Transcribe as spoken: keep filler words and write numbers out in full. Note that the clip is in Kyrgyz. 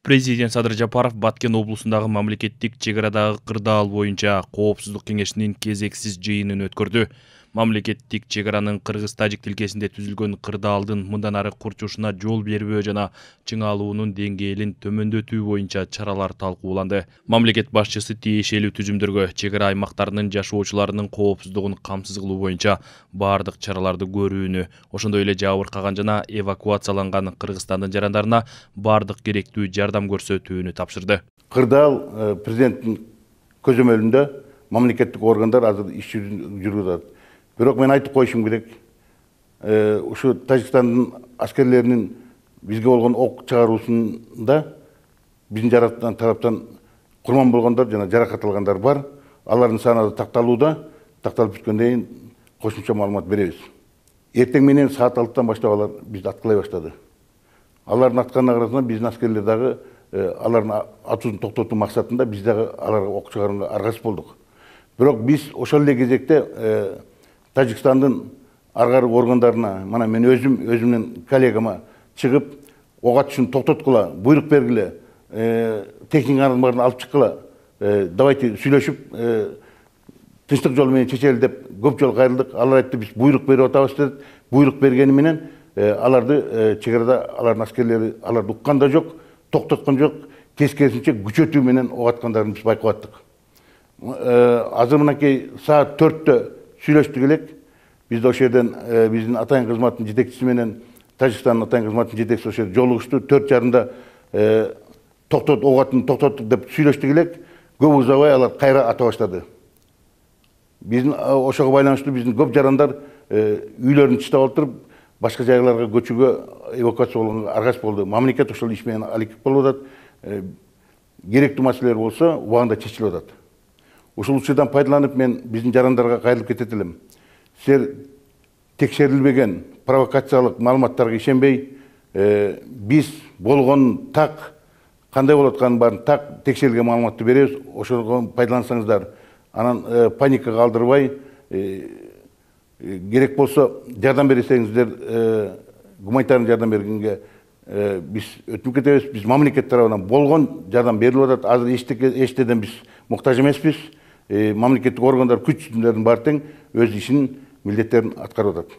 Президент Садыр Жапаров Баткен облусундагы мамлекеттик чек арадагы кырдаал боюнча коопсуздук кеңешинин кезексиз жыйынын өткөрдү. Мамлекеттик чек аранын кыргыз-тажик тилкесинде түзүлгөн кырдаалдын мындан ары курчушуна жол бербөө жана чыңалуунун деңгээлин төмөндөтүү боюнча чаралар талкууланды. Мамлекет башчысы тиешелүү түзүмдөргө чек ара аймактарынын жашоочуларынын коопсуздугун камсыз кылуу боюнча баардык чараларды көрүүнү, ошондой эле жабыркаган жана эвакуацияланган Кыргызстандын жарандарына баардык керектүү жардам көрсөтүүнү тапшырды. Кырдаал президенттин көзөмөлүндө мамлекеттик органдар азыр иш жүргүзүп атат. Бирок мен айтып коюшум керек. Ушу Тажикстандын аскерлеринин бизге болгон ок чыгаруусунда биздин жараттан тараптан курман болгондор жана жаракат алгандар бар. Алардын саны такталууда. Такталып бүткөндөн кийин кошумча маалымат беребиз. Эртең менен саат алтыдан баштап алар бизди аткылай баштады. Алардын атканына карасына биздин аскерлер дагы алардын атуусун токтотуу максатында биз дагы аларга ок чыгарууга аргасыз болдук. Бирок биз ошол эле кезекте Тажикстандын ар кайры органдарына, мана мен өзүм өзүмдүн коллегама чыгып, ок атышын токтоткула, буйрук бергиле, техниканын баарын алып чыккыла, давайте сүйлөшүп, тынчтык жолу менен чечели деп көп жолу кайрылдык. Алар айтты, биз буйрук берип атабыз деп. Буйрук бергени менен аларды чек арада алардын аскерлери аларды уккан да жок, токтоткон жок, тескерисинче күчөтүү менен ок аткандарын биз байкап аттык. Азыр мынакей саат төрттө сүйлөштүк элек. Биз ошол жерден биздин атайын кызматтын жетекчиси менен Тажикстандын атайын кызматтын жетекчиси ошол жерде жолугушту. төрт жарымда токтот, ок атын токтоттук деп сүйлөштүк элек. Көп узабай алар кайра ата баштады. Биздин ошого байланыштуу биздин көп жарандар үйлөрүн тыштап отуруп, башка жайларга көчүүгө, эвакуация болгонго аргасыз болду. Мамлекет ошол иш менен алектип болуп атат. Керектүү маселелер болсо убагында чечилип атат. Ушул учурдан пайдаланып мен биздин жарандарга кайрылып кетет элем. Силер текшерилбеген провокациялык маалыматтарга ишенбей, биз болгон так, кандай болуп атканын баарын так текшерилген маалыматты беребиз. Ошого пайдалансаңыздар, анан паникага алдырбай, керек болсо жардам берсеңиздер, гуманитарный жардам бергенге биз өтүнүп кетебиз. Биз мамлекет тарабынан болгон жардам берилип атат. Азыр эчтеден биз муктаж эмеспиз. Мамлекеттик органдар күчтөрдүн баары тең өз ишин, милдеттерин аткарып атат.